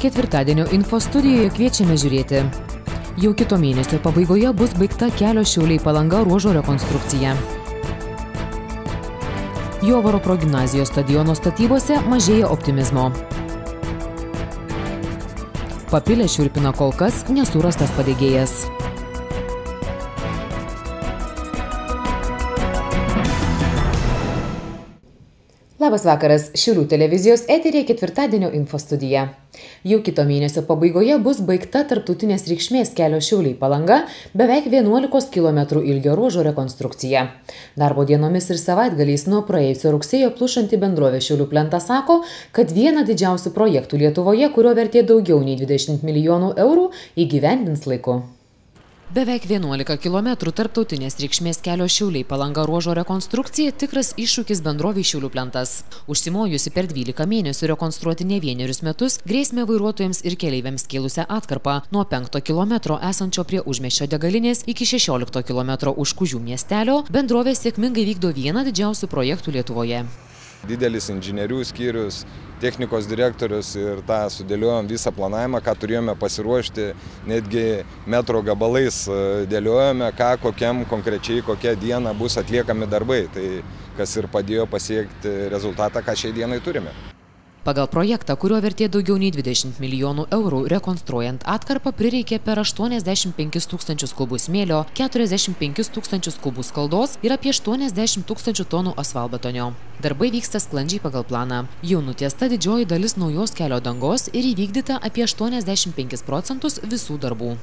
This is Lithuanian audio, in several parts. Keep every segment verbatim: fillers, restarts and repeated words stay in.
ketvirtadienio info studijoje kviečiame žiūrėti. Jau kito mėnesio pabaigoje bus baigta kelio Šiauliai Palanga ruožo rekonstrukcija. Jovaro progimnazijos stadiono statybose mažėja optimizmo. Papilę šiurpina kol kas nesurastas padegėjas. Labas vakaras, Šiaulių televizijos eteryje ketvirtadienio info studija. Jau kito mėnesio pabaigoje bus baigta tarptautinės reikšmės kelio Šiauliai Palanga beveik vienuolikos kilometrų ilgio ruožo rekonstrukcija. Darbo dienomis ir savaitgaliais nuo praėjusio rugsėjo plušanti bendrovė Šiaulių plenta sako, kad vieną didžiausių projektų Lietuvoje, kurio vertė daugiau nei dvidešimt milijonų eurų, įgyvendins laiku. Beveik vienuolika kilometrų tarptautinės reikšmės kelio Šiauliai Palanga ruožo rekonstrukcija tikras iššūkis bendrovei Šiaulių plentas. Užsimojusi per dvylika mėnesių rekonstruoti ne vienerius metus, grėsmę vairuotojams ir keleiviams kėlusią atkarpą nuo penkto kilometro esančio prie Užmiesčio degalinės iki šešiolikto kilometro už Kužių miestelio, bendrovė sėkmingai vykdo vieną didžiausių projektų Lietuvoje. Didelis inžinierių skyrius, technikos direktorius ir tą sudėliojom visą planavimą, ką turėjome pasiruošti, netgi metro gabalais dėliojome, ką kokiam konkrečiai kokią dieną bus atliekami darbai, tai kas ir padėjo pasiekti rezultatą, ką šiai dienai turime. Pagal projektą, kurio vertė daugiau nei dvidešimt milijonų eurų, rekonstruojant atkarpą prireikė per aštuoniasdešimt penkis tūkstančius kubų smėlio, keturiasdešimt penkis tūkstančius kubų skaldos ir apie aštuoniasdešimt tūkstančių tonų asfaltbetonio. Darbai vyksta sklandžiai pagal planą. Jau nutiesta didžioji dalis naujos kelio dangos ir įvykdyta apie aštuoniasdešimt penkis procentus visų darbų.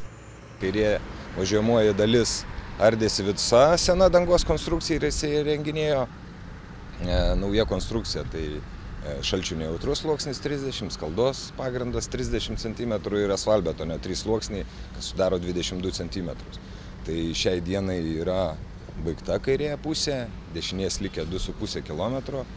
Kairė važiuojamoji dalis ardėsi visa sena dangos konstrukcija ir įsirenginėjo nauja konstrukcija. Tai šalčių nejautrus sluoksnis trisdešimt, skaldos pagrindas trisdešimt centimetrų ir asfaltbetonio trys sluoksniai, kas sudaro dvidešimt du centimetrus. Tai šiai dienai yra baigta kairėje pusė, dešinės likę du su puse kilometro.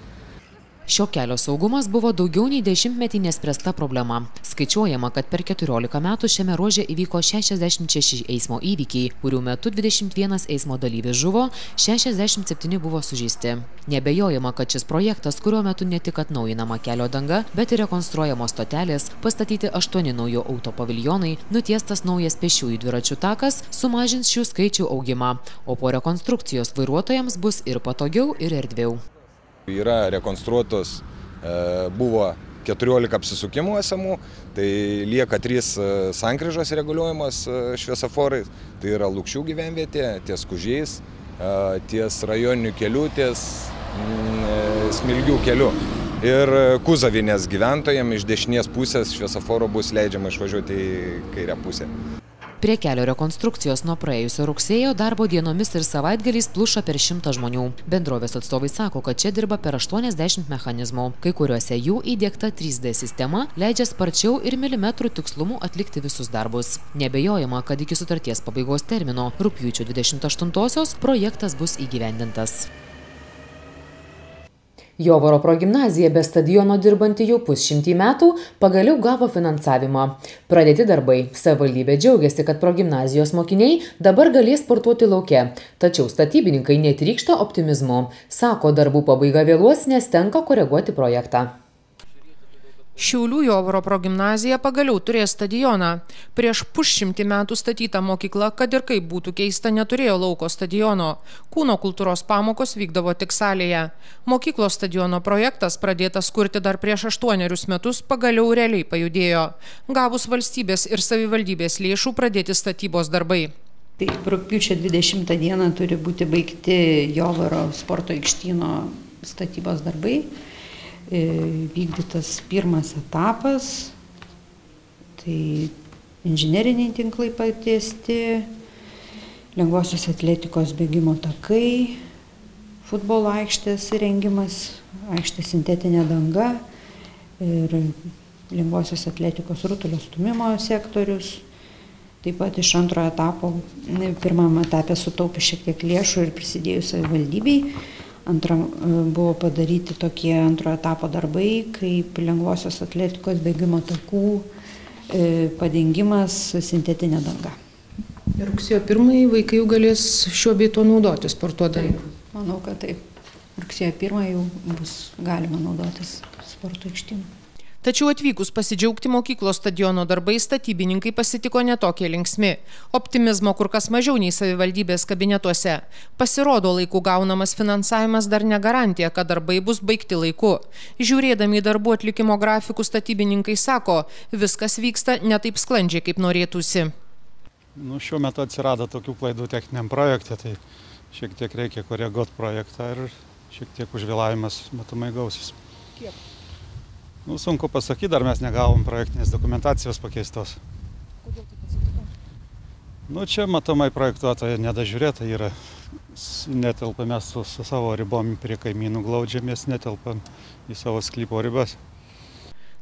Šio kelio saugumas buvo daugiau nei dešimtmetį nespręsta problema. Skaičiuojama, kad per keturiolika metų šiame ruože įvyko šešiasdešimt šeši eismo įvykiai, kurių metu dvidešimt vienas eismo dalyvis žuvo, šešiasdešimt septyni buvo sužeisti. Nebejojama, kad šis projektas, kurio metu ne tik atnaujinama kelio danga, bet ir rekonstruojamos stotelės, pastatyti aštuoni naujo autopaviljonai, nutiestas naujas pėsčiųjų dviračių takas, sumažins šių skaičių augimą, o po rekonstrukcijos vairuotojams bus ir patogiau, ir erdviau. Yra rekonstruotos, buvo keturiolika apsisukimų esamų, tai lieka trys sankryžos reguliuojamos šviesoforais, tai yra Lukšių gyvenvietė, ties Kužiais, ties rajoninių kelių, ties Smilgių kelių. Ir Kuzavinės gyventojams iš dešinės pusės šviesoforo bus leidžiama išvažiuoti į kairę pusę. Prie kelio rekonstrukcijos nuo praėjusio rugsėjo darbo dienomis ir savaitgaliais pluša per šimtą žmonių. Bendrovės atstovai sako, kad čia dirba per aštuoniasdešimt mechanizmų. Kai kuriuose jų įdiegta trys D sistema leidžia sparčiau ir milimetrų tikslumu atlikti visus darbus. Nebejojama, kad iki sutarties pabaigos termino rugpjūčio dvidešimt aštuntosios projektas bus įgyvendintas. Jovaro progimnazija be stadiono dirbanti jau pusšimtį metų pagaliau gavo finansavimą. Pradėti darbai. Savivaldybė džiaugiasi, kad progimnazijos mokiniai dabar galės sportuoti lauke. Tačiau statybininkai netrykšta optimizmu. Sako, darbų pabaiga vėluos, nes tenka koreguoti projektą. Šiaulių Jovaro progimnazija pagaliau turės stadioną. Prieš pusšimtį metų statyta mokykla, kad ir kaip būtų keista, neturėjo lauko stadiono. Kūno kultūros pamokos vykdavo tik salėje. Mokyklos stadiono projektas, pradėtas kurti dar prieš aštuonerius metus, pagaliau realiai pajudėjo. Gavus valstybės ir savivaldybės lėšų pradėti statybos darbai. Tai rugpjūčio dvidešimtą dieną turi būti baigti Jovaro sporto aikštyno statybos darbai. Vykdytas pirmas etapas, tai inžineriniai tinklai patiesti, lengvosios atletikos bėgimo takai, futbolo aikštės įrengimas, aikštės sintetinė danga ir lengvosios atletikos rutulio stūmimo sektorius. Taip pat iš antrojo etapo, pirmam etapė sutaupė šiek tiek lėšų ir prisidėjo savivaldybei. Antra, buvo padaryti tokie antrojo etapo darbai, kaip lengvosios atletikos bėgimo takų padengimas sintetinė danga. Ir rugsėjo pirmąjį vaikai jau galės šiuo bei tuo naudotis sportuodami. Taip, manau, kad taip. Rugsėjo pirmąjį jau bus galima naudotis sporto aikštynu. Tačiau atvykus pasidžiaugti mokyklos stadiono darbai statybininkai pasitiko netokie linksmi. Optimizmo kur kas mažiau nei savivaldybės kabinetuose. Pasirodo, laiku gaunamas finansavimas dar ne garantija, kad darbai bus baigti laiku. Žiūrėdami į darbų atlikimo grafikų statybininkai sako, viskas vyksta ne taip sklandžiai, kaip norėtųsi. Nu, šiuo metu atsirado tokių klaidų techniniam projekte, tai šiek tiek reikia koreguoti projektą ir šiek tiek užvėlavimas matomai gausis. Kiek? Nu, sunku pasakyti, dar mes negavom projektinės dokumentacijos pakeistos. Kodėl taip atsitiko? Nu, čia matomai projektuotoja nedažiūrėta yra. Netelpame mes su, su savo ribom prie kaimynų glaudžiamės, netelpam į savo sklypo ribas.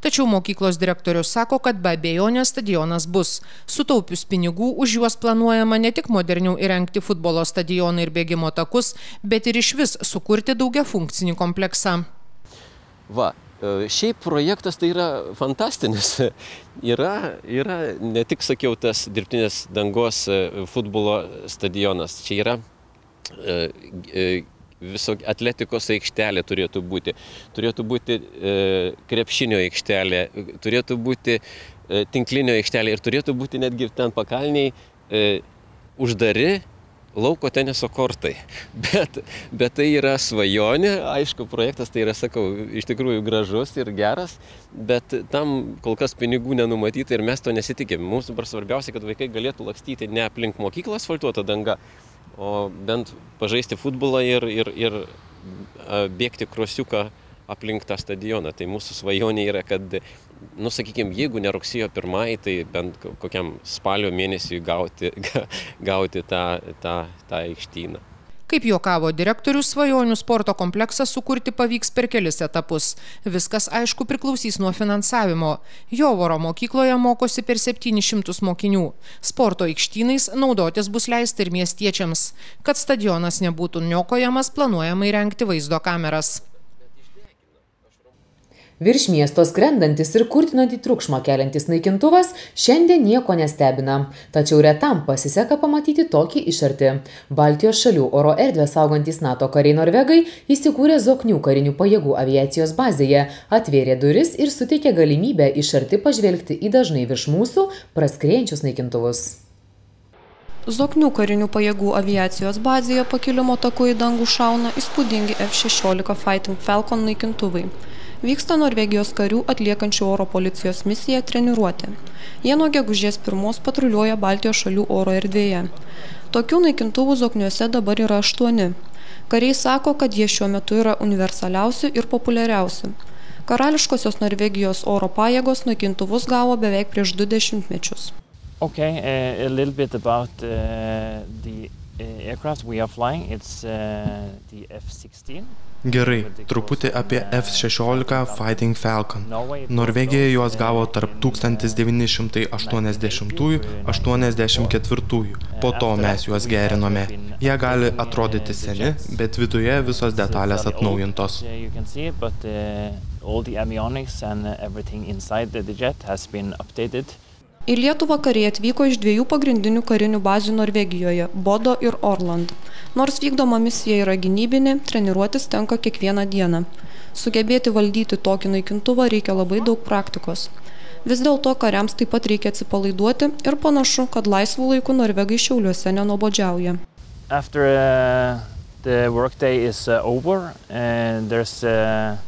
Tačiau mokyklos direktorius sako, kad be abejonės stadionas bus. Sutaupius pinigų, už juos planuojama ne tik moderniau įrengti futbolo stadioną ir bėgimo takus, bet ir išvis sukurti daugiafunkcinį kompleksą. Va, šiaip projektas tai yra fantastinis. Yra, yra ne tik, sakiau, tas dirbtinės dangos futbolo stadionas. Čia yra viso atletikos aikštelė turėtų būti. Turėtų būti krepšinio aikštelė, turėtų būti tinklinio aikštelė ir turėtų būti netgi ten pakalniai uždari lauko teniso kortai. Bet, bet tai yra svajonė, aišku, projektas tai yra, sakau, iš tikrųjų gražus ir geras, bet tam kol kas pinigų nenumatyta ir mes to nesitikėm. Mums dabar svarbiausia, kad vaikai galėtų lakstyti ne aplink mokyklą asfaltuotą dangą, o bent pažaisti futbolą ir, ir, ir bėgti krosiuką aplink tą stadioną. Tai mūsų svajonė yra, kad, nu, sakykime, jeigu ne rugsėjo pirmai, tai bent kokiam spalio mėnesiui gauti, gauti tą, tą, tą aikštyną. Kaip juokavo direktorius, svajonių sporto kompleksą sukurti pavyks per kelis etapus. Viskas, aišku, priklausys nuo finansavimo. Jovaro mokykloje mokosi per septynis šimtus mokinių. Sporto aikštynais naudotis bus leista ir miestiečiams. Kad stadionas nebūtų niokojamas, planuojama įrengti vaizdo kameras. Virš miesto skrendantis ir kurtinantį triukšmą keliantis naikintuvas šiandien nieko nestebina. Tačiau retam pasiseka pamatyti tokį iš arti. Baltijos šalių oro erdvę saugantys NATO kariai norvegai įsikūrė Zoknių karinių pajėgų aviacijos bazėje, atvėrė duris ir suteikė galimybę iš arti pažvelgti į dažnai virš mūsų praskriejančius naikintuvus. Zoknių karinių pajėgų aviacijos bazėje pakilimo taku į dangų šauna įspūdingi F šešiolika Fighting Falcon naikintuvai. Vyksta Norvegijos karių atliekančių oro policijos misiją treniruotė. Jie nuo gegužės pirmos patruliuoja Baltijos šalių oro erdvėje. Tokių naikintuvų Zokniuose dabar yra aštuoni. Kariai sako, kad jie šiuo metu yra universaliausi ir populiariausi. Karališkosios Norvegijos oro pajėgos naikintuvus gavo beveik prieš du dešimtmečius. Okay, a, a little bit about uh, the aircraft we are flying. It's uh, the F sixteen. Gerai, truputį apie F šešiolika Fighting Falcon. Norvegija juos gavo tarp tūkstantis devyni šimtai aštuoniasdešimtųjų - aštuoniasdešimt ketvirtųjų. Po to mes juos gerinome. Jie gali atrodyti seni, bet viduje visos detalės atnaujintos. Į Lietuvą kariai atvyko iš dviejų pagrindinių karinių bazių Norvegijoje – Bodo ir Orland. Nors vykdoma misija yra gynybinė, treniruotis tenka kiekvieną dieną. Sugebėti valdyti tokį naikintuvą reikia labai daug praktikos. Vis dėlto kariams taip pat reikia atsipalaiduoti ir panašu, kad laisvų laikų norvegai Šiauliuose nenuobodžiauja. After uh, the workday is uh, over, and there's uh...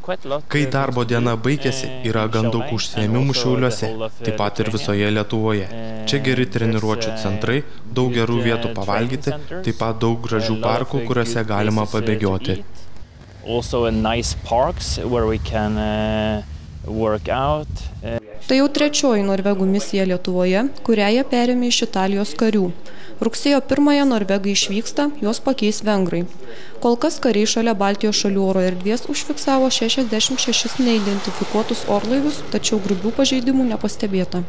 Kai darbo diena baigėsi, yra gan daug užsiėmimų Šiauliuose, taip pat ir visoje Lietuvoje. Čia geri treniruočių centrai, daug gerų vietų pavalgyti, taip pat daug gražių parkų, kuriuose galima pabėgioti. Tai jau trečioji norvegų misija Lietuvoje, kurią jie perėmė iš Italijos karių. Rugsėjo pirmąją norvegai išvyksta, juos pakeis vengrai. Kol kas kariai šalia Baltijos šalių oro erdvės užfiksavo šešiasdešimt šešis neidentifikuotus orlaivius, tačiau grubių pažeidimų nepastebėta.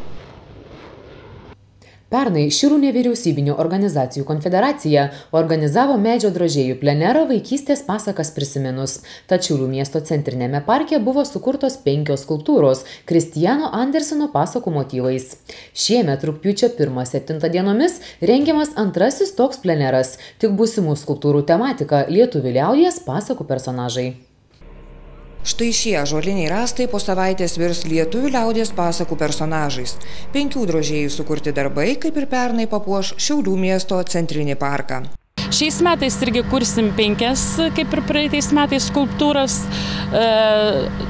Pernai Širų nevyriausybinių organizacijų konfederacija organizavo medžio drožėjų plenerą vaikystės pasakas prisiminus. Tačiulių miesto centrinėme parke buvo sukurtos penkios skulptūros Kristijano Anderseno pasakų motyvais. Šiemet rugpjūčio pirmą-septintą dienomis rengiamas antrasis toks pleneras, tik būsimų skulptūrų tematika lietuvių liaudies pasakų personažai. Štai šie ąžuoliniai rąstai po savaitės virs lietuvių liaudies pasakų personažais. Penkių drožėjų sukurti darbai, kaip ir pernai, papuoš Šiaulių miesto centrinį parką. Šiais metais irgi kursim penkias, kaip ir praeitais metais, skulptūras.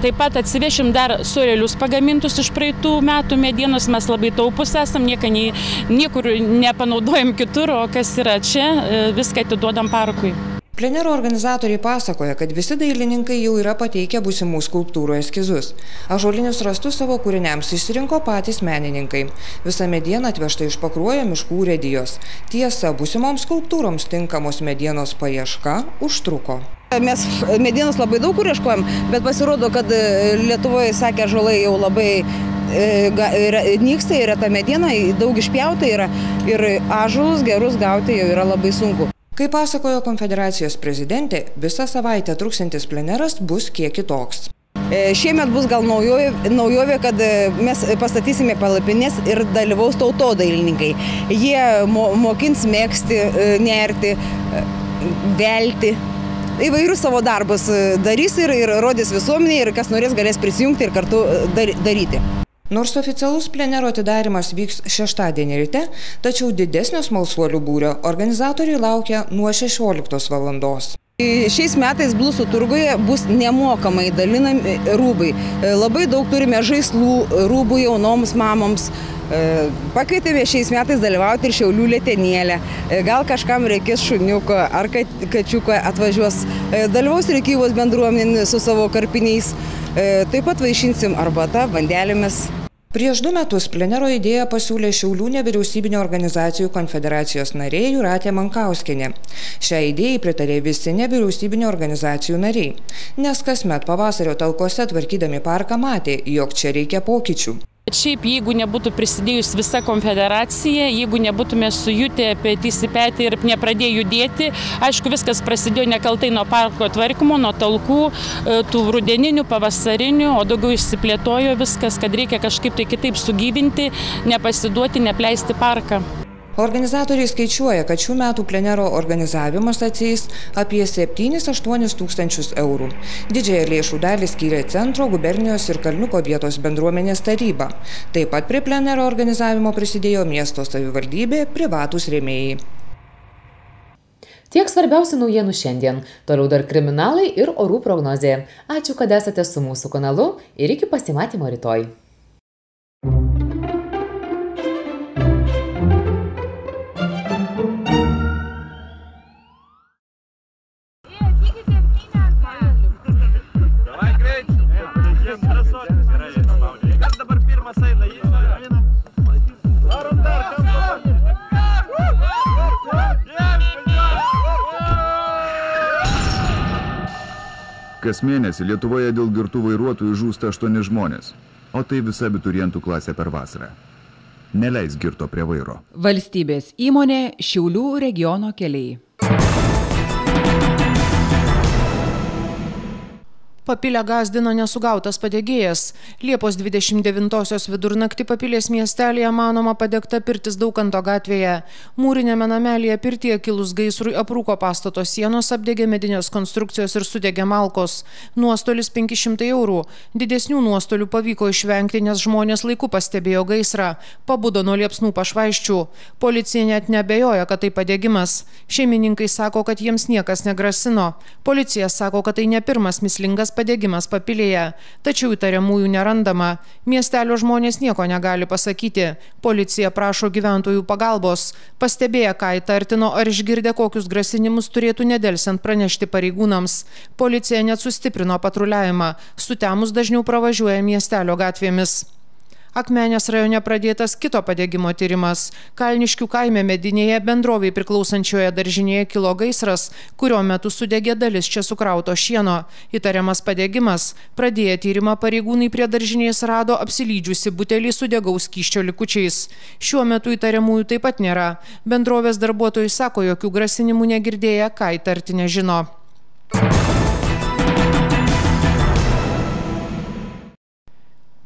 Taip pat atsivešim dar surelius pagamintus iš praeitų metų medienos. Mes labai taupus esam, niekur nepanaudojam kitur, o kas yra čia, viską atiduodam parkui. Plenero organizatoriai pasakoja, kad visi dailininkai jau yra pateikę būsimų skulptūrų eskizus. Ąžuolinius rąstus savo kūriniams išsirinko patys menininkai. Visa mediena atvežta iš Pakruojo miškų urėdijos. Tiesa, būsimoms skulptūroms tinkamos medienos paieška užtruko. Mes medienos labai daug kur ieškojom, bet pasirodo, kad Lietuvoje, sakė, ąžuolai jau labai nyksta, yra ta mediena, daug išpjauta yra ir ąžuolus gerus gauti jau yra labai sunku. Kaip pasakojo konfederacijos prezidentė, visą savaitę truksiantis pleneras bus kiek kitoks. Šiemet bus gal naujovė, kad mes pastatysime palapines ir dalyvaus tautodailininkai. Jie mokins megzti, nerti, velti. Įvairius savo darbus darys ir rodys visuomeniai ir kas norės galės prisijungti ir kartu daryti. Nors oficialus plenero atidarimas vyks šeštadienį ryte, tačiau didesnio smalsuolių būrio organizatoriai laukia nuo šešioliktos valandos. Šiais metais Blusų turguje bus nemokamai dalinami rūbai. Labai daug turime žaislų rūbų jaunoms mamoms. Pakvietėme šiais metais dalyvauti ir Šiaulių letenėlę. Gal kažkam reikės šuniuko ar kačiuko atvažiuos. Dalyvaus Rėkyvos bendruomenė su savo karpiniais. Taip pat vaišinsim arbata, vandelėmis. Prieš du metus plenero idėją pasiūlė Šiaulių nevyriausybinio organizacijų konfederacijos narė Jūratė Mankauskienė. Šią idėją pritarė visi nevyriausybinio organizacijų nariai, nes kasmet pavasario talkose tvarkydami parką matė, jog čia reikia pokyčių. Šiaip, jeigu nebūtų prisidėjus visa konfederacija, jeigu nebūtume sujutę petys į petį ir nepradėję judėti, aišku, viskas prasidėjo nekaltai nuo parko tvarkymo, nuo talkų, tų rudeninių, pavasarinių, o daugiau išsiplėtojo viskas, kad reikia kažkaip tai kitaip sugyvinti, nepasiduoti, nepleisti parką. Organizatoriai skaičiuoja, kad šių metų plenero organizavimas atsieis apie septynis aštuonis tūkstančius eurų. Didžiąją lėšų dalį skyrė Centro, Gubernijos ir Kalniuko vietos bendruomenės taryba. Taip pat prie plenero organizavimo prisidėjo miesto savivaldybė, privatūs rėmėjai. Tiek svarbiausių naujienų šiandien. Toliau dar kriminalai ir orų prognozė. Ačiū, kad esate su mūsų kanalu ir iki pasimatymo rytoj. Kas mėnesį Lietuvoje dėl girtų vairuotojų žūsta aštuoni žmonės, o tai visa abiturientų klasė per vasarą. Neleis girto prie vairo. Valstybės įmonė Šiaulių regiono keliai. Papilę gąsdino nesugautas padegėjas. Liepos dvidešimt devintosios vidurnaktį Papilės miestelėje manoma padegta pirtis Daukanto gatvėje. Mūrinėme namelėje pirtyje kilus gaisrui aprūko pastato sienos, apdegė medinės konstrukcijos ir sudegė malkos. Nuostolis penki šimtai eurų. Didesnių nuostolių pavyko išvengti, nes žmonės laiku pastebėjo gaisrą. Pabudo nuo liepsnų pašvaisčių. Policija net neabejoja, kad tai padegimas. Šeimininkai sako, kad jiems niekas negrasino. Policija sako, kad tai ne pirmas mįslingas padegimas Papilėje, tačiau įtariamųjų nerandama. Miestelio žmonės nieko negali pasakyti. Policija prašo gyventojų pagalbos. Pastebėję, ką įtartino ar išgirdę kokius grasinimus, turėtų nedelsiant pranešti pareigūnams. Policija net sustiprino patruliavimą. Sutemus dažniau pravažiuoja miestelio gatvėmis. Akmenės rajone pradėtas kito padegimo tyrimas. Kalniškių kaime medinėje bendrovei priklausančioje daržinėje kilo gaisras, kurio metu sudegė dalis čia sukrauto šieno. Įtariamas padegimas. Pradėję tyrimą pareigūnai prie daržinės rado apsilydžiusi butelį su degaus skysčio likučiais. Šiuo metu įtariamųjų taip pat nėra. Bendrovės darbuotojai sako, jokių grasinimų negirdėję, ką įtarti nežino.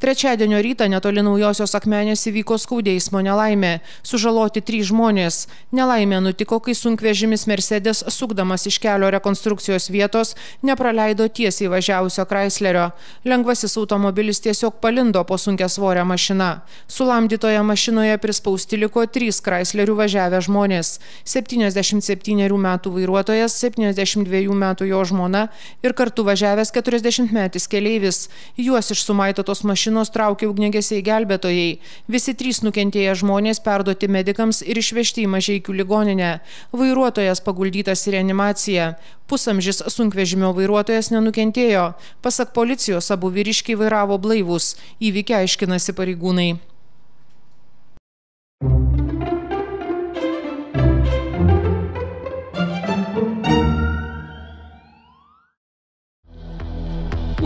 Trečiadienio rytą netoli Naujosios Akmenės įvyko skaudi eismo nelaimė. Sužaloti trys žmonės. Nelaimė nutiko, kai sunkvežimis Mercedes, sukdamas iš kelio rekonstrukcijos vietos, nepraleido tiesiai važiavusio Chryslerio. Lengvasis automobilis tiesiog palindo po sunkiasvorę mašiną. Sulamdytoje mašinoje prispausti liko trys Chryslerių važiavę žmonės. septyniasdešimt septynerių metų vairuotojas, septyniasdešimt dviejų metų jo žmona ir kartu važiavęs keturiasdešimtmetis keleivis. Juos iš sumaitotos mašinos traukė ugniagesiai gelbėtojai. Visi trys nukentėję žmonės perduoti medikams ir išvežti į Mažeikių ligoninę. Vairuotojas paguldytas į reanimaciją. Pusamžis sunkvežimio vairuotojas nenukentėjo. Pasak policijos, abu vyriškiai vairavo blaivūs. Įvykį aiškinasi pareigūnai.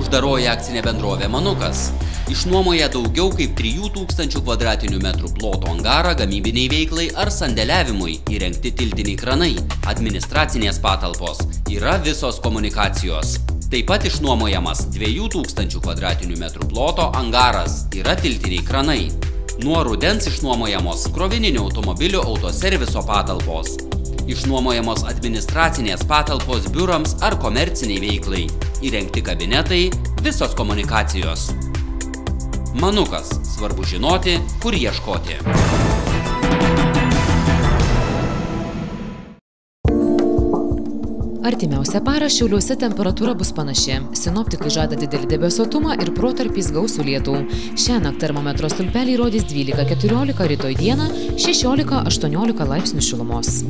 Uždaroji akcinė bendrovė Manukas išnuomoja daugiau kaip trijų tūkstančių kvadratinių metrų ploto angarą gamybiniai veiklai ar sandėliavimui įrengti tiltiniai kranai, administracinės patalpos, yra visos komunikacijos. Taip pat išnuomojamas dviejų tūkstančių kvadratinių metrų ploto angaras, yra tiltiniai kranai. Nuo rudens išnuomojamos krovininių automobilių autoserviso patalpos. Išnuomojamos administracinės patalpos biurams ar komerciniai veiklai, įrengti kabinetai, visos komunikacijos. Manukas. Svarbu žinoti, kur ieškoti. Artimiausią parą Šiauliuose temperatūra bus panaši. Sinoptikai žada didelį debesuotumą ir protarpiais gausų lietų. Šiąnakt termometro stulpeliai rodys dvylika keturiolika, rytoj dieną šešiolika aštuoniolika laipsnių šilumos.